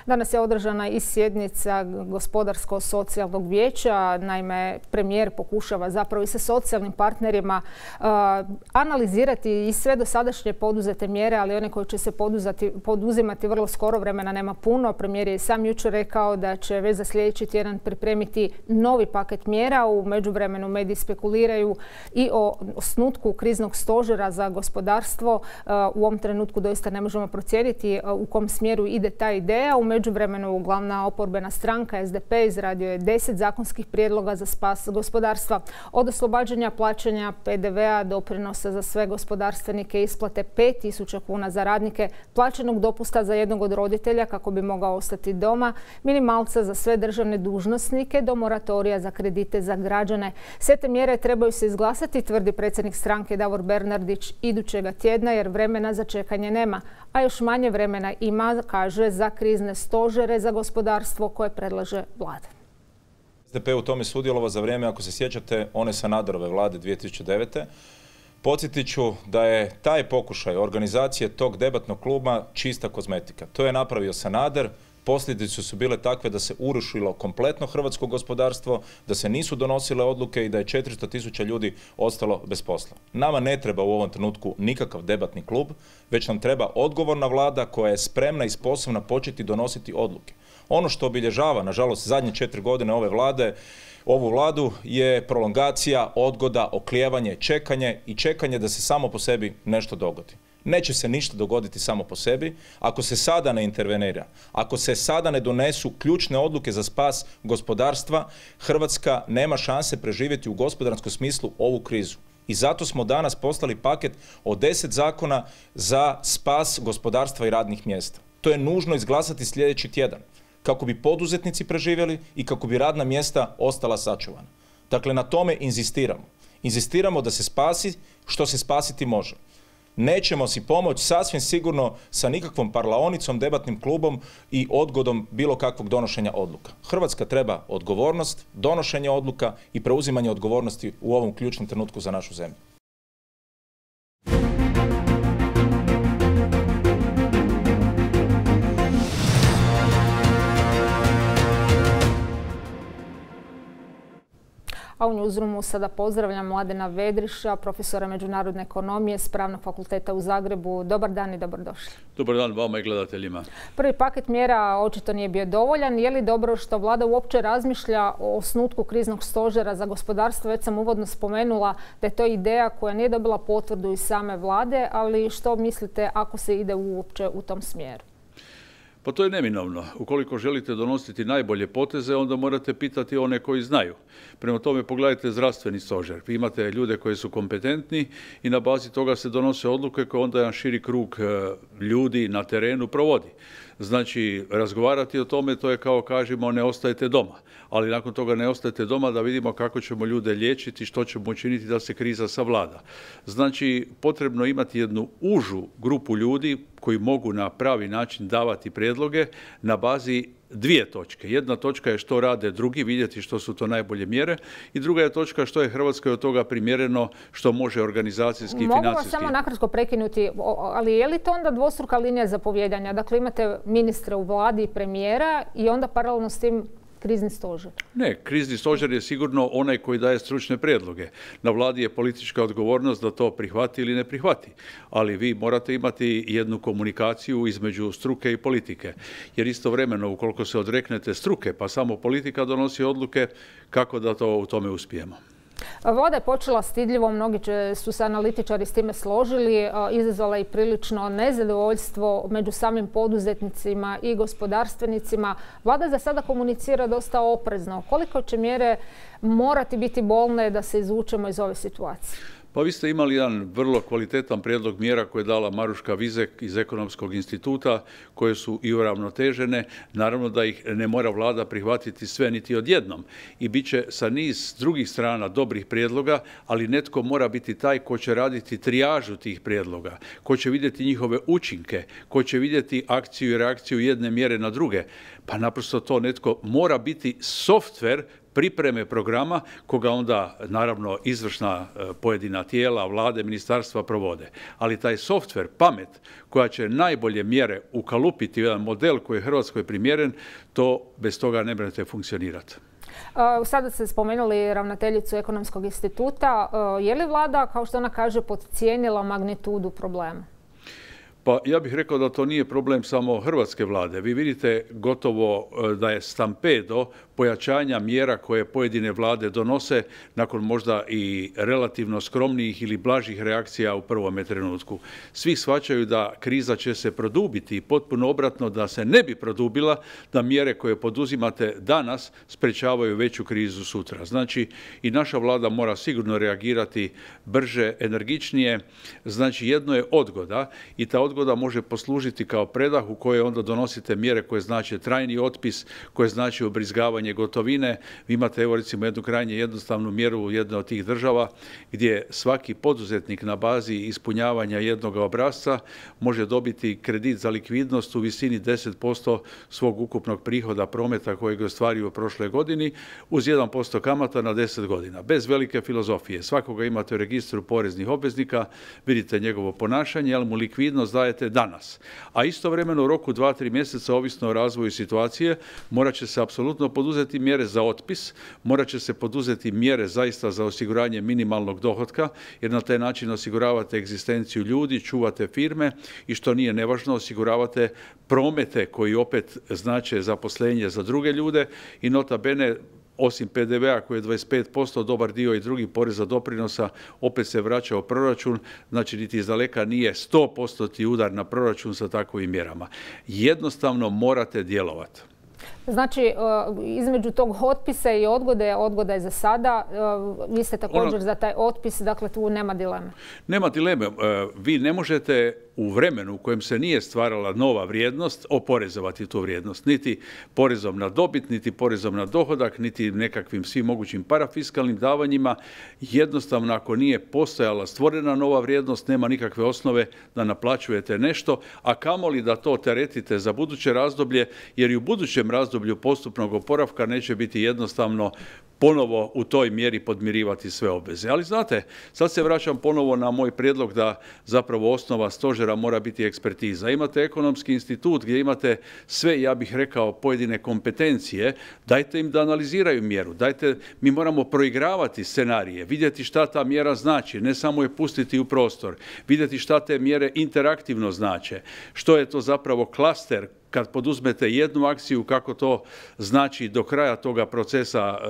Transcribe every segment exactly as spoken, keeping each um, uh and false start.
Danas je održana i sjednica gospodarsko-socijalnog vijeća. Naime, premijer pokušava zapravo i sa socijalnim partnerima uh, analizirati i sve dosadašnje poduzete mjere, ali one koje će se poduzati, poduzimati vrlo skoro, vremena nema puno. Premijer je sam jučer rekao da će već za sljedeći tjedan pripremiti novi paket mjera. U međuvremenu mediji spekuliraju i o osnutku kriznog stožera za gospodarstvo. Uh, u ovom trenutku doista ne možemo procijeniti uh, u kom smjeru ide ta ideja. U međuvremenu glavna oporbena stranka S D P izradio je deset zakonskih prijedloga za spas gospodarstva. Od oslobađanja plaćanja P D V-a, doprinosa za sve gospodarstvenike, isplate pet tisuća kuna za radnike, plaćenog dopusta za jednog od roditelja kako bi mogao ostati doma, minimalca za sve državne dužnosnike do moratorija za kredite za građane. Sve te mjere trebaju se izglasati, tvrdi predsjednik stranke Davor Bernardić, idućega tjedna jer vremena za čekanje nema, a još manje vremena ima, kaže, za krizne stožere za gospodarstvo koje predlaže vlada. S D P u tome sudjelovao za vrijeme, ako se sjećate, one Sanaderove vlade dvije tisuće devete. Podsjetit ću da je taj pokušaj organizacije tog debatnog kluba čista kozmetika. To je napravio Sanader. Posljedice su bile takve da se urušilo kompletno hrvatsko gospodarstvo, da se nisu donosile odluke i da je četiristo tisuća ljudi ostalo bez posla. Nama ne treba u ovom trenutku nikakav debatni klub, već nam treba odgovorna vlada koja je spremna i sposobna početi donositi odluke. Ono što obilježava, nažalost, zadnje četiri godine ove vlade, ovu vladu je prolongacija, odgoda, oklijevanje, čekanje i čekanje da se samo po sebi nešto dogodi. Neće se ništa dogoditi samo po sebi ako se sada ne intervenira, ako se sada ne donesu ključne odluke za spas gospodarstva. Hrvatska nema šanse preživjeti u gospodarskom smislu ovu krizu. I zato smo danas poslali paket od deset zakona za spas gospodarstva i radnih mjesta. To je nužno izglasati sljedeći tjedan kako bi poduzetnici preživjeli i kako bi radna mjesta ostala sačuvana. Dakle, na tome inzistiramo. Inzistiramo da se spasi što se spasiti može. Nećemo si pomoći sasvim sigurno sa nikakvom parlaonicom, debatnim klubom i odgodom bilo kakvog donošenja odluka. Hrvatska treba odgovornost, donošenje odluka i preuzimanje odgovornosti u ovom ključnom trenutku za našu zemlju. A u Newsroomu sada pozdravljam Mladena Vedriša, profesora međunarodne ekonomije s Pravnog fakulteta u Zagrebu. Dobar dan i dobrodošli. Dobar dan vama i gledateljima. Prvi paket mjera očito nije bio dovoljan. Je li dobro što vlada uopće razmišlja o osnutku kriznog stožera za gospodarstvo? Već sam uvodno spomenula da je to ideja koja nije dobila potvrdu iz same vlade, ali što mislite ako se ide uopće u tom smjeru? Pa to je neminovno. Ukoliko želite donositi najbolje poteze, onda morate pitati one koji znaju. Prema tome pogledajte zdravstveni stožer. Vi imate ljude koji su kompetentni i na bazi toga se donose odluke koje onda jedan širi krug ljudi na terenu provodi. Znači, razgovarati o tome, to je kao kažemo, ne ostajete doma. Ali nakon toga ne ostajete doma da vidimo kako ćemo ljude liječiti, što ćemo učiniti da se kriza savlada. Znači, potrebno imati jednu užu grupu ljudi koji mogu na pravi način davati prijedloge na bazi dvije točke. Jedna točka je što rade drugi, vidjeti što su to najbolje mjere, i druga je točka što je Hrvatskoj od toga primjereno, što može organizacijski i financijski. Mogu vas samo nakratko prekinuti, ali je li to onda dvostruka linija zapovijedanja? Dakle, imate ministra u vladi i premijera i onda paralelno s tim krizni stožer? Ne, krizni stožer je sigurno onaj koji daje stručne prijedloge. Na vladi je politička odgovornost da to prihvati ili ne prihvati. Ali vi morate imati jednu komunikaciju između struke i politike. Jer istovremeno, ukoliko se odreknete struke, pa samo politika donosi odluke, kako da to u tome uspijemo? Vlada je počela stidljivo, mnogi su se analitičari s time složili, izazvala i prilično nezadovoljstvo među samim poduzetnicima i gospodarstvenicima. Vlada za sada komunicira dosta oprezno. Koliko će mjere morati biti bolne da se izvučemo iz ove situacije? Pa vi ste imali jedan vrlo kvalitetan prijedlog mjera koje je dala Maruška Vizek iz Ekonomskog instituta, koje su i uravnotežene. Naravno da ih ne mora vlada prihvatiti sve niti odjednom. I bit će sa niz drugih strana dobrih prijedloga, ali netko mora biti taj ko će raditi trijažu tih prijedloga, ko će vidjeti njihove učinke, ko će vidjeti akciju i reakciju jedne mjere na druge. Pa naprosto to netko mora biti softver pripreme programa koga onda naravno izvršna pojedina tijela, vlade, ministarstva provode. Ali taj softver, pamet koja će najbolje mjere ukalupiti jedan model koji je Hrvatskoj primjeren, to bez toga ne možete funkcionirati. Sada ste spomenuli ravnateljicu Ekonomskog instituta. Je li vlada, kao što ona kaže, podcijenila magnitudu problema? Pa ja bih rekao da to nije problem samo hrvatske vlade. Vi vidite gotovo da je stampedo pojačanja mjera koje pojedine vlade donose nakon možda i relativno skromnijih ili blažih reakcija u prvome trenutku. Svi shvaćaju da kriza će se produbiti i potpuno obratno da se ne bi produbila, da mjere koje poduzimate danas sprečavaju veću krizu sutra. Znači i naša vlada mora sigurno reagirati brže, energičnije. Znači jedno je odgoda i ta odgoda može poslužiti kao predah u kojoj onda donosite mjere koje znače trajni otpis, koje znači ubrizgavanje gotovine. Vi imate, evo recimo, jednu krajnje jednostavnu mjeru u jednoj od tih država gdje svaki poduzetnik na bazi ispunjavanja jednog obrasca može dobiti kredit za likvidnost u visini deset posto svog ukupnog prihoda prometa kojeg je ostvario u prošloj godini uz jedan posto kamata na deset godina. Bez velike filozofije. Svakoga imate u registru poreznih obveznika, vidite njegovo ponašanje, ali mu likvidnost dajete danas. A istovremeno u roku dva, tri mjeseca, ovisno o razvoju situacije, morat će se apsolutno poduzeti mjere za otpis, morat će se poduzeti mjere zaista za osiguranje minimalnog dohotka, jer na taj način osiguravate egzistenciju ljudi, čuvate firme i što nije nevažno, osiguravate promete koji opet znače zaposlenje za druge ljude i nota bene, osim P D V-a koji je dvadeset pet posto, dobar dio i drugih poreza doprinosa opet se vraća u proračun, znači niti izdaleka nije sto posto udar na proračun sa takovim mjerama. Jednostavno morate djelovati. Znači, između tog otpisa i odgode, odgoda je za sada, vi ste također za taj otpis, dakle tu nema dileme. Nema dileme. Vi ne možete u vremenu u kojem se nije stvarala nova vrijednost oporezovati tu vrijednost. Niti porezom na dobit, niti porezom na dohodak, niti nekakvim svim mogućim parafiskalnim davanjima. Jednostavno, ako nije postojala stvorena nova vrijednost, nema nikakve osnove da naplaćujete nešto, a kamoli da to teretite za buduće razdoblje, jer i u budućem razdoblju postupnog oporavka neće biti jednostavno ponovo u toj mjeri podmirivati sve obveze. Ali znate, sad se vraćam ponovo na moj prijedlog da zapravo osnova stožera mora biti ekspertiza. Imate Ekonomski institut gdje imate sve, ja bih rekao, pojedine kompetencije, dajte im da analiziraju mjeru, dajte, mi moramo proigravati scenarije, vidjeti šta ta mjera znači, ne samo je pustiti u prostor, vidjeti šta te mjere interaktivno znače, što je to zapravo klaster, kad poduzmete jednu akciju, kako to znači do kraja toga procesa e,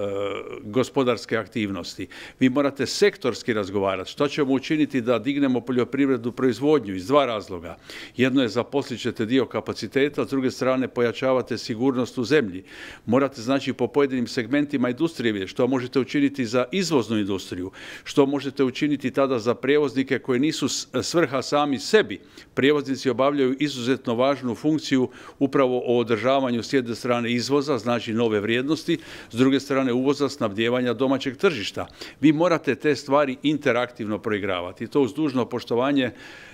gospodarske aktivnosti. Vi morate sektorski razgovarati. Što ćemo učiniti da dignemo poljoprivrednu proizvodnju iz dva razloga. Jedno je zaposlit ćete dio kapaciteta, s druge strane pojačavate sigurnost u zemlji. Morate znači po pojedinim segmentima industrije vidjeti što možete učiniti za izvoznu industriju, što možete učiniti tada za prijevoznike koji nisu svrha sami sebi. Prijevoznici obavljaju izuzetno važnu funkciju upravo o održavanju s jedne strane izvoza, znači nove vrijednosti, s druge strane uvoza, snabdijevanja domaćeg tržišta. Vi morate te stvari interaktivno proigravati. To uz dužno poštovanje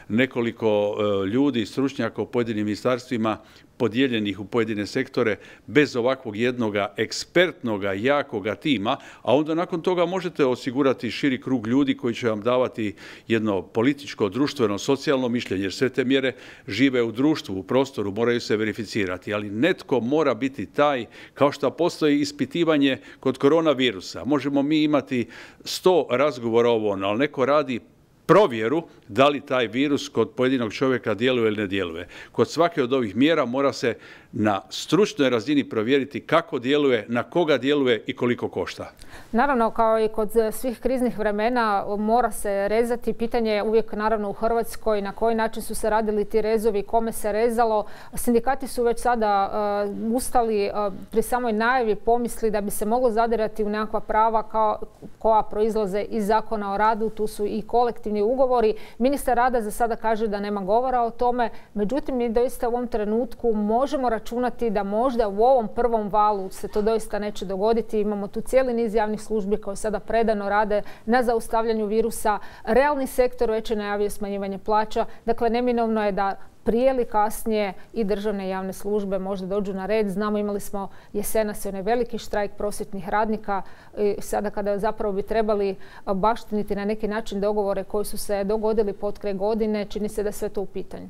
nekoliko ljudi, stručnjaka u pojedinim ministarstvima, podijeljenih u pojedine sektore, bez ovakvog jednoga ekspertnoga, jakoga tima, a onda nakon toga možete osigurati širi krug ljudi koji će vam davati jedno političko, društveno, socijalno mišljenje, jer sve te mjere žive u društvu, u prostoru, moraju se verificirati, ali netko mora biti taj, kao što postoji ispitivanje kod koronavirusa. Možemo mi imati sto razgovora o ovom, ali neko radi provjeru da li taj virus kod pojedinog čovjeka djeluje ili ne djeluje. Kod svake od ovih mjera mora se na stručnoj razini provjeriti kako djeluje, na koga djeluje i koliko košta. Naravno, kao i kod svih kriznih vremena, mora se rezati. Pitanje je uvijek naravno u Hrvatskoj na koji način su se radili ti rezovi, kome se rezalo. Sindikati su već sada uh, ustali uh, pri samoj najavi pomisli da bi se moglo zadirati u nekakva prava kao, koja proizlaze iz Zakona o radu. Tu su i kolektivni ugovori. Ministar rada za sada kaže da nema govora o tome. Međutim, mi doista u ovom trenutku možemo računati da možda u ovom prvom valu se to doista neće dogoditi. Imamo tu cijeli niz javnih službi koje sada predano rade na zaustavljanju virusa. Realni sektor već je najavio smanjivanje plaća. Dakle, neminovno je da prije ili kasnije i državne javne službe možda dođu na red. Znamo, imali smo jesenas onaj veliki štrajk prosvjetnih radnika. I sada kada zapravo bi trebali baštiniti na neki način dogovore koji su se dogodili potkraj godine, čini se da je sve to u pitanju.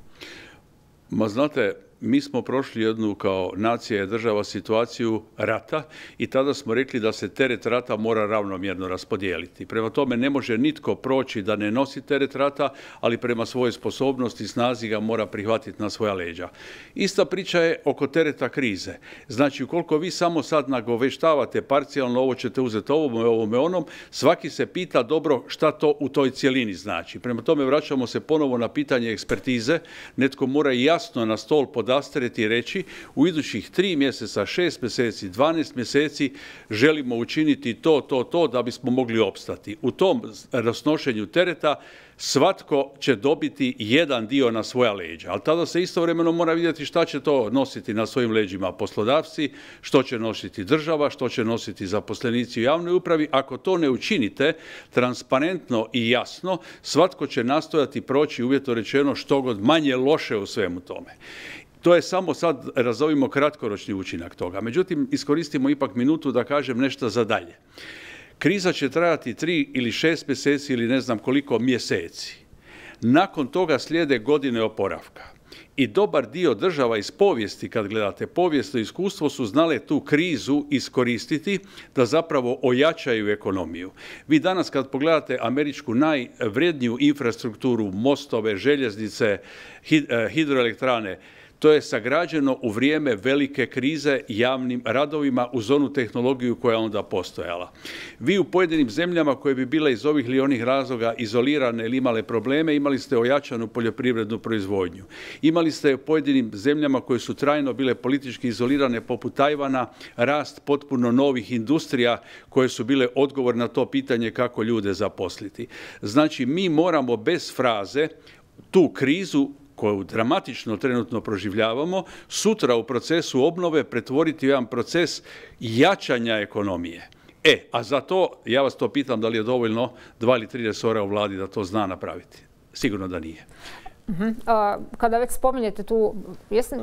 Ma znate, mi smo prošli jednu kao nacija i država situaciju rata i tada smo rekli da se teret rata mora ravnomjerno raspodijeliti. Prema tome ne može nitko proći da ne nosi teret rata, ali prema svojoj sposobnosti i snazi ga mora prihvatiti na svoja leđa. Ista priča je oko tereta krize. Znači, ukoliko vi samo sad nagoveštavate parcijalno, ovo ćete uzeti ovome, ovome, onom, svaki se pita dobro šta to u toj cjelini znači. Prema tome vraćamo se ponovo na pitanje ekspertize. Netko mora jasno na stol podati i reći u idućih tri mjeseca, šest mjeseci, dvanaest mjeseci želimo učiniti to, to, to da bismo mogli opstati. U tom raznošenju tereta svatko će dobiti jedan dio na svoja leđa, ali tada se istovremeno mora vidjeti šta će to nositi na svojim leđima poslodavci, što će nositi država, što će nositi zaposlenici u javnoj upravi. Ako to ne učinite transparentno i jasno, svatko će nastojati proći, uvjetno rečeno, što god manje loše u svemu tome. To je samo sad, razovimo, kratkoročni učinak toga. Međutim, iskoristimo ipak minutu da kažem nešto za dalje. Kriza će trajati tri ili šest mjeseci ili ne znam koliko mjeseci. Nakon toga slijede godine oporavka. I dobar dio država iz povijesti, kad gledate povijesno iskustvo, su znale tu krizu iskoristiti da zapravo ojačaju ekonomiju. Vi danas kad pogledate američku najvredniju infrastrukturu, mostove, željeznice, hidroelektrane, to je sagrađeno u vrijeme velike krize javnim radovima uz onu tehnologiju koja je onda postojala. Vi u pojedinim zemljama koje bi bile iz ovih ili onih razloga izolirane ili imale probleme, imali ste ojačanu poljoprivrednu proizvodnju. Imali ste u pojedinim zemljama koje su trajno bile politički izolirane poput Tajvana rast potpuno novih industrija koje su bile odgovor na to pitanje kako ljude zaposliti. Znači, mi moramo bez fraze tu krizu koju dramatično trenutno proživljavamo, sutra u procesu obnove pretvoriti u jedan proces jačanja ekonomije. E, a za to, ja vas to pitam da li je dovoljno dva ili tri resora u vladi da to zna napraviti. Sigurno da nije. Kada već spominjete tu,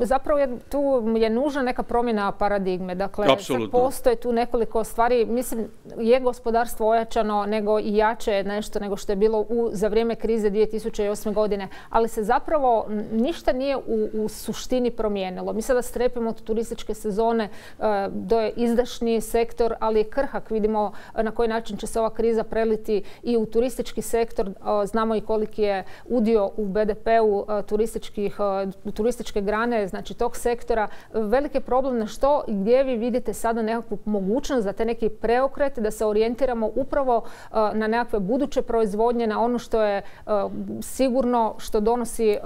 zapravo je, tu je nužna neka promjena paradigme. Dakle, postoje tu nekoliko stvari. Mislim, je gospodarstvo ojačano, nego i jače je nešto nego što je bilo u, za vrijeme krize dvije tisuće osme godine. Ali se zapravo ništa nije u, u suštini promijenilo. Mi sada strepimo od turističke sezone, to je izdašni sektor, ali je krhak. Vidimo na koji način će se ova kriza preliti i u turistički sektor. Znamo i koliki je udio u be de pe u turističke grane, znači tog sektora. Veliki problem na što i gdje vi vidite sada nekakvu mogućnost za te neki preokret, da se orijentiramo upravo na nekakve buduće proizvodnje, na ono što je sigurno, što donosi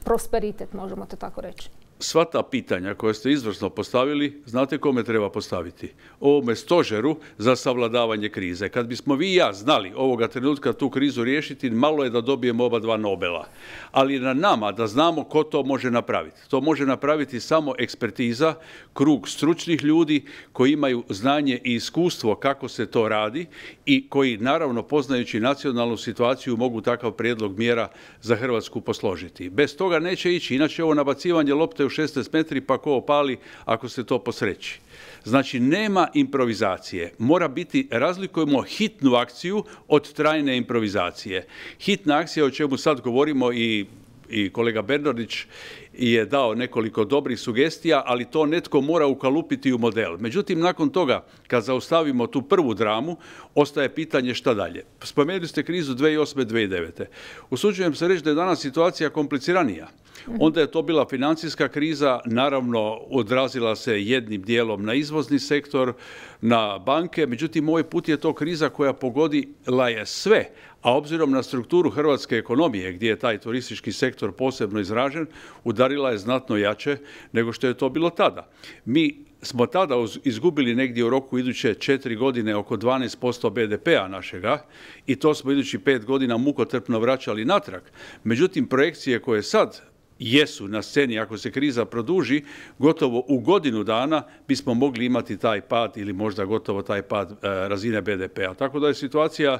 prosperitet, možemo to tako reći. Sva ta pitanja koje ste izvrsno postavili, znate kome treba postaviti? Ovome stožeru za savladavanje krize. Kad bismo vi i ja znali ovoga trenutka tu krizu riješiti, malo je da dobijemo oba dva Nobela. Ali na nama da znamo ko to može napraviti. To može napraviti samo ekspertiza, krug stručnih ljudi koji imaju znanje i iskustvo kako se to radi i koji, naravno, poznajući nacionalnu situaciju, mogu takav prijedlog mjera za Hrvatsku posložiti. Bez toga neće ići, inače ovo nabacivanje lopte u šesnaest metri pa ko opali ako se to posreći. Znači, nema improvizacije. Mora biti, razlikujemo hitnu akciju od trajne improvizacije. Hitna akcija, o čemu sad govorimo, i i kolega Bernardić je dao nekoliko dobrih sugestija, ali to netko mora ukalupiti u model. Međutim, nakon toga, kad zaustavimo tu prvu dramu, ostaje pitanje šta dalje. Spomenuli ste krizu dvije tisuće osme. dvije tisuće devete. Usuđujem se reći da je danas situacija kompliciranija. Onda je to bila financijska kriza, naravno odrazila se jednim dijelom na izvozni sektor, na banke, međutim ovaj put je to kriza koja pogodila je sve, a obzirom na strukturu hrvatske ekonomije, gdje je taj turistički sektor posebno izražen, udarila je znatno jače nego što je to bilo tada. Mi smo tada izgubili negdje u roku iduće četiri godine oko dvanaest posto be de pea našega i to smo idući pet godina mukotrpno vraćali natrag. Međutim, projekcije koje sad jesu na sceni, ako se kriza produži, gotovo u godinu dana bismo mogli imati taj pad ili možda gotovo taj pad razine be de pea. Tako da je situacija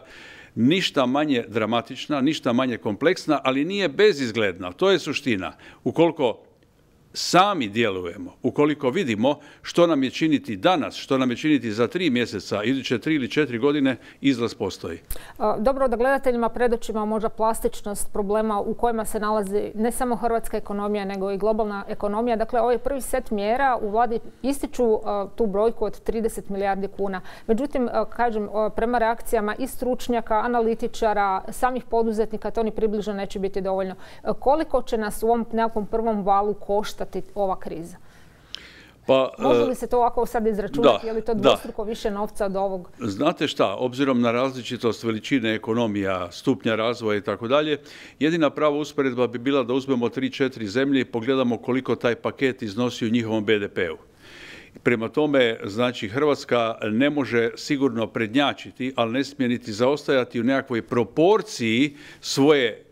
ništa manje dramatična, ništa manje kompleksna, ali nije bezizgledna. To je suština. Ukoliko sami djelujemo, ukoliko vidimo što nam je činiti danas, što nam je činiti za tri mjeseca, iduće tri ili četiri godine, izlaz postoji. Dobro, da gledateljima predočimo možda plastičnost problema u kojima se nalazi ne samo hrvatska ekonomija, nego i globalna ekonomija. Dakle, ovaj prvi set mjera u vladi ističu tu brojku od trideset milijardi kuna. Međutim, kažem, prema reakcijama i stručnjaka, analitičara, samih poduzetnika, to ni približno neće biti dovoljno. Koliko će nas u ovom nekakvom prvom valu koštati ova kriza? Pa, može li se to ovako sad izračunati? Da, je li to dvostruko više novca od ovog? Znate šta, obzirom na različitost veličine ekonomija, stupnja razvoja i tako dalje, jedina prava usporedba bi bila da uzmemo tri četiri zemlje i pogledamo koliko taj paket iznosi u njihovom be de peu. Prema tome, znači, Hrvatska ne može sigurno prednjačiti, ali ne smije niti zaostajati u nekakvoj proporciji svoje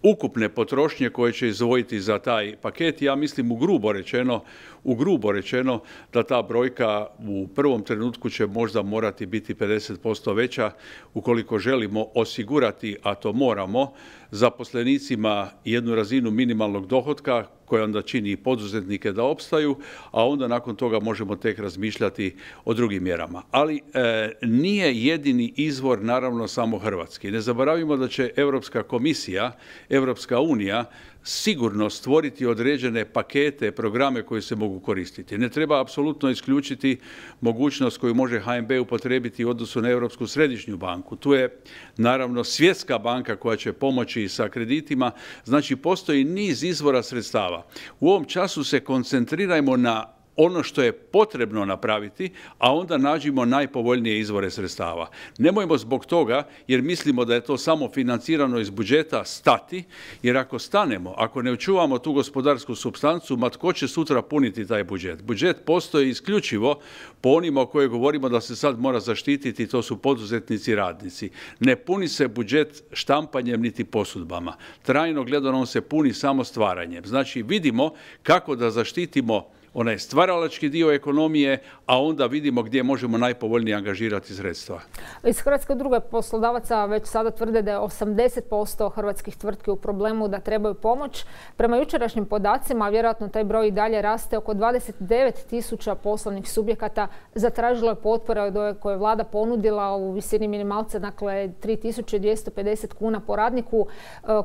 ukupne potrošnje koje će izdvojiti za taj paket. Ja mislim u grubo rečeno, u grubo rečeno da ta brojka u prvom trenutku će možda morati biti pedeset posto veća ukoliko želimo osigurati, a to moramo, zaposlenicima jednu razinu minimalnog dohotka koja onda čini i poduzetnike da opstaju, a onda nakon toga možemo tek razmišljati o drugim mjerama. Ali e, nije jedini izvor naravno samo hrvatski. Ne zaboravimo da će Europska komisija, Europska unija sigurno stvoriti određene pakete, programe koji se mogu koristiti. Ne treba apsolutno isključiti mogućnost koju može ha em be upotrijebiti u odnosu na Europsku središnju banku. Tu je naravno Svjetska banka koja će pomoći sa kreditima. Znači, postoji niz izvora sredstava. U ovom času se koncentrirajmo na ono što je potrebno napraviti, a onda nađimo najpovoljnije izvore sredstava. Nemojmo zbog toga, jer mislimo da je to samo financirano iz budžeta, stati, jer ako stanemo, ako ne očuvamo tu gospodarsku supstancu, ma tko će sutra puniti taj budžet? Budžet postoji isključivo po onima o koje govorimo da se sad mora zaštititi, to su poduzetnici i radnici. Ne puni se budžet štampanjem niti posudbama. Trajno gledano on se puni samo stvaranjem. Znači, vidimo kako da zaštitimo onaj stvaralački dio ekonomije, a onda vidimo gdje možemo najpovoljnije angažirati sredstva. Iz Hrvatske udruge poslodavaca već sada tvrde da je osamdeset posto hrvatskih tvrtki u problemu, da trebaju pomoć. Prema jučerašnjim podacima, vjerojatno taj broj i dalje raste, oko dvadeset devet tisuća poslovnih subjekata zatražilo je potpore od ove koje je vlada ponudila u visini minimalca, dakle tri tisuće dvjesto pedeset kuna po radniku.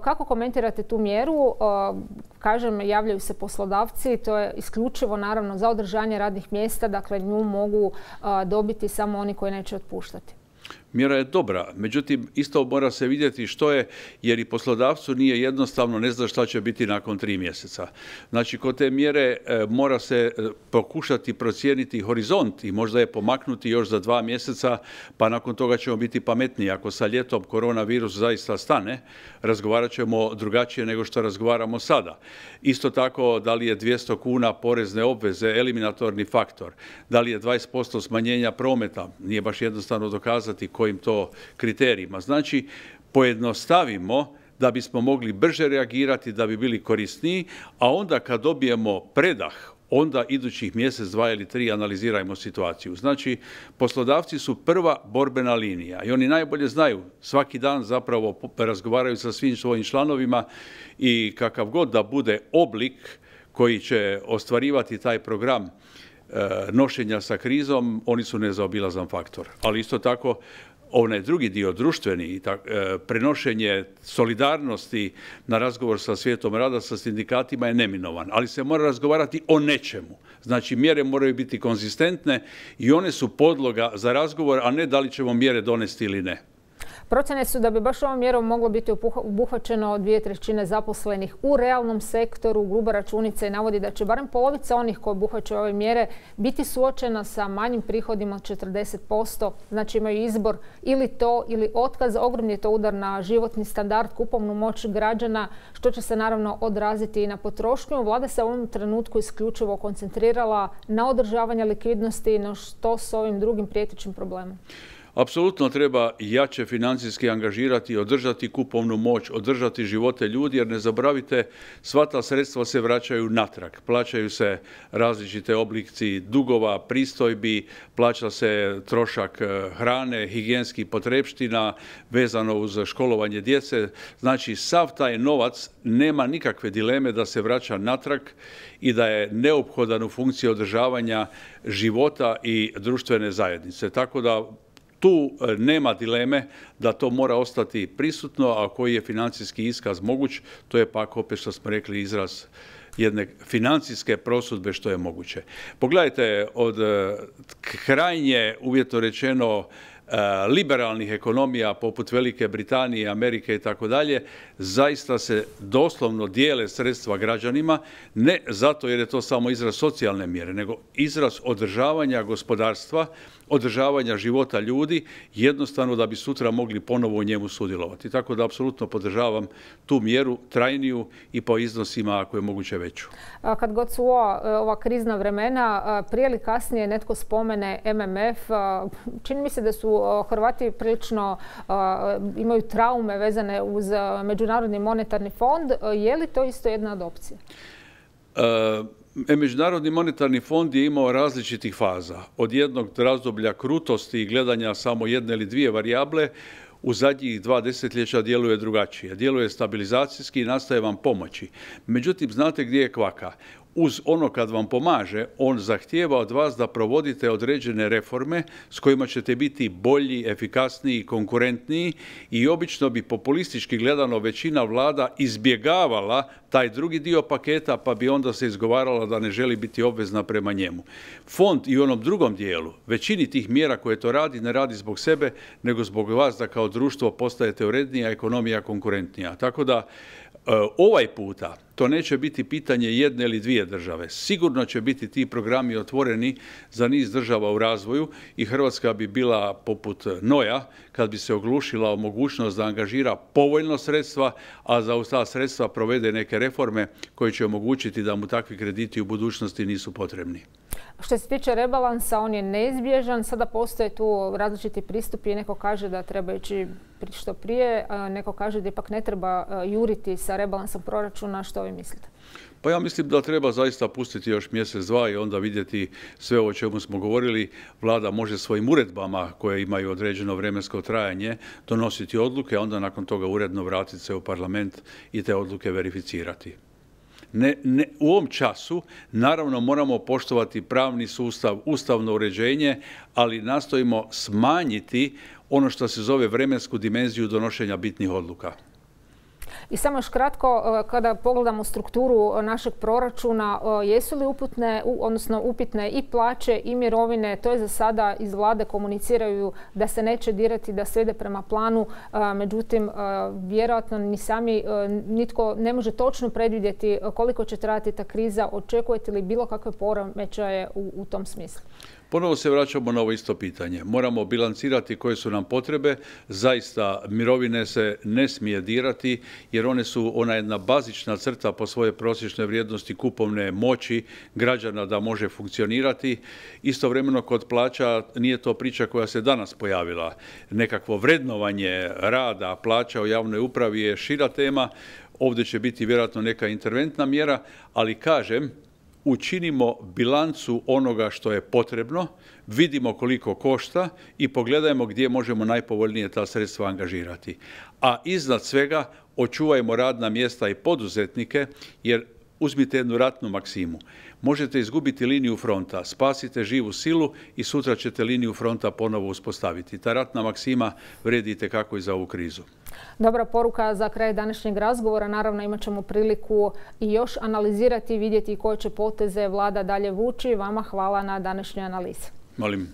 Kako komentirate tu mjeru? Kažem, javljaju se poslodavci, to je isključivo naravno za održanje radnih mjesta, dakle nju mogu a, dobiti samo oni koji neće otpuštati. Mjera je dobra, međutim isto mora se vidjeti što je, jer i poslodavcu nije jednostavno, ne zna šta će biti nakon tri mjeseca. Znači, kod te mjere e, mora se e, pokušati procijeniti horizont i možda je pomaknuti još za dva mjeseca, pa nakon toga ćemo biti pametniji. Ako sa ljetom koronavirus zaista stane, razgovarat ćemo drugačije nego što razgovaramo sada. Isto tako, da li je dvjesto kuna porezne obveze eliminatorni faktor, da li je dvadeset posto smanjenja prometa, nije baš jednostavno dokazati kojim to kriterijima. Znači, pojednostavimo da bismo mogli brže reagirati, da bi bili korisniji, a onda kad dobijemo predah, onda idućih mjesec, dva ili tri analizirajmo situaciju. Znači, poslodavci su prva borbena linija i oni najbolje znaju, svaki dan zapravo razgovaraju sa svim svojim članovima i kakav god da bude oblik koji će ostvarivati taj program nošenja sa krizom, oni su nezaobilazan faktor. Ali isto tako, onaj drugi dio, društveni, prenošenje solidarnosti na razgovor sa svijetom rada, sa sindikatima je neminovan. Ali se mora razgovarati o nečemu. Znači, mjere moraju biti konzistentne i one su podloga za razgovor, a ne da li ćemo mjere donesti ili ne. Procjene su da bi baš ovom mjerom moglo biti obuhvaćeno dvije trećine zaposlenih u realnom sektoru. Gruba računica i navodi da će barem polovica onih koji obuhvaćaju ove mjere biti suočena sa manjim prihodima od četrdeset posto. Znači, imaju izbor ili to ili otkaz. Ogromni je to udar na životni standard, kupovnu moć građana, što će se naravno odraziti i na potrošnju. Vlada se u ovom trenutku isključivo koncentrirala na održavanje likvidnosti, no što s ovim drugim prijetećim problemom? Apsolutno treba jače financijski angažirati i održati kupovnu moć, održati živote ljudi, jer ne zaboravite, sva ta sredstva se vraćaju natrag. Plaćaju se različite oblici dugova, pristojbi, plaća se trošak hrane, higijenskih potrepština vezano uz školovanje djece. Znači, sav taj novac nema nikakve dileme da se vraća natrag i da je neophodan u funkciji održavanja života i društvene zajednice. Tako da tu nema dileme da to mora ostati prisutno, a koji je financijski iskaz moguć, to je pak opet što smo rekli izraz jedne financijske prosudbe što je moguće. Pogledajte, od krajnje, uvjetno rečeno, liberalnih ekonomija poput Velike Britanije, Amerike i tako dalje, zaista se doslovno dijele sredstva građanima, ne zato jer je to samo izraz socijalne mjere, nego izraz održavanja gospodarstva, održavanja života ljudi, jednostavno da bi sutra mogli ponovo u njemu sudjelovati. Tako da apsolutno podržavam tu mjeru trajniju i po iznosima ako je moguće veću. Kad god su ova, ova krizna vremena, prije ili kasnije netko spomene M M F, čini mi se da su Hrvati prilično imaju traume vezane uz Međunarodni monetarni fond. Je li to isto jedna od opcija? Uh... Međunarodni monetarni fond je imao različitih faza. Od jednog razdoblja krutosti i gledanja samo jedne ili dvije varijable, u zadnjih dva desetljeća djeluje drugačije. Djeluje stabilizacijski i nastaje vam pomoći. Međutim, znate gdje je kvaka? Uz ono kad vam pomaže, on zahtijeva od vas da provodite određene reforme s kojima ćete biti bolji, efikasniji, konkurentniji i obično bi populistički gledano većina vlada izbjegavala taj drugi dio paketa pa bi onda se izgovarala da ne želi biti obvezna prema njemu. Fond i u onom drugom dijelu, većini tih mjera koje to radi, ne radi zbog sebe, nego zbog vas da kao društvo postajete urednija, ekonomija konkurentnija. Tako da ovaj puta to neće biti pitanje jedne ili dvije države. Sigurno će biti ti programi otvoreni za niz država u razvoju i Hrvatska bi bila poput Noja kad bi se oglušila o mogućnost da angažira povoljno sredstva, a za ta sredstva provede neke reforme koje će omogućiti da mu takvi krediti u budućnosti nisu potrebni. Što se tiče rebalansa, on je neizbježan. Sada postoje tu različiti pristupi i neko kaže da treba ići što prije, neko kaže da ipak ne treba juriti sa rebalansom proračuna. Što vi mislite? Pa ja mislim da treba zaista pustiti još mjesec, dva i onda vidjeti sve o čemu smo govorili. Vlada može svojim uredbama koje imaju određeno vremensko trajanje donositi odluke, a onda nakon toga uredno vratiti se u parlament i te odluke verificirati. Ne, ne, u ovom času naravno moramo poštovati pravni sustav, ustavno uređenje, ali nastojimo smanjiti ono što se zove vremensku dimenziju donošenja bitnih odluka. I samo još kratko, kada pogledamo strukturu našeg proračuna, jesu li uputne, odnosno upitne i plaće i mirovine? To je za sada iz vlade komuniciraju da se neće dirati, da sve ide prema planu. Međutim, vjerojatno ni sami nitko ne može točno predvidjeti koliko će trajati ta kriza. Očekujete li bilo kakve poremećaje u, u tom smislu? Ponovo se vraćamo na ovo isto pitanje. Moramo bilancirati koje su nam potrebe. Zaista mirovine se ne smije dirati jer one su ona jedna bazična crta po svojoj prosječnoj vrijednosti kupovne moći građana da može funkcionirati. Istovremeno kod plaća nije to priča koja se danas pojavila. Nekakvo vrednovanje rada, plaća u javnoj upravi je šira tema. Ovdje će biti vjerojatno neka interventna mjera, ali kažem, učinimo bilancu onoga što je potrebno, vidimo koliko košta i pogledajmo gdje možemo najpovoljnije ta sredstva angažirati. A iznad svega očuvajmo radna mjesta i poduzetnike, jer uzmite jednu ratnu maksimu. Možete izgubiti liniju fronta, spasite živu silu i sutra ćete liniju fronta ponovo uspostaviti. Ta ratna maksima vrijedi itekako i za ovu krizu. Dobra poruka za kraj današnjeg razgovora. Naravno, imat ćemo priliku i još analizirati i vidjeti koje će poteze vlada dalje vući. Vama hvala na današnjoj analizi. Molim.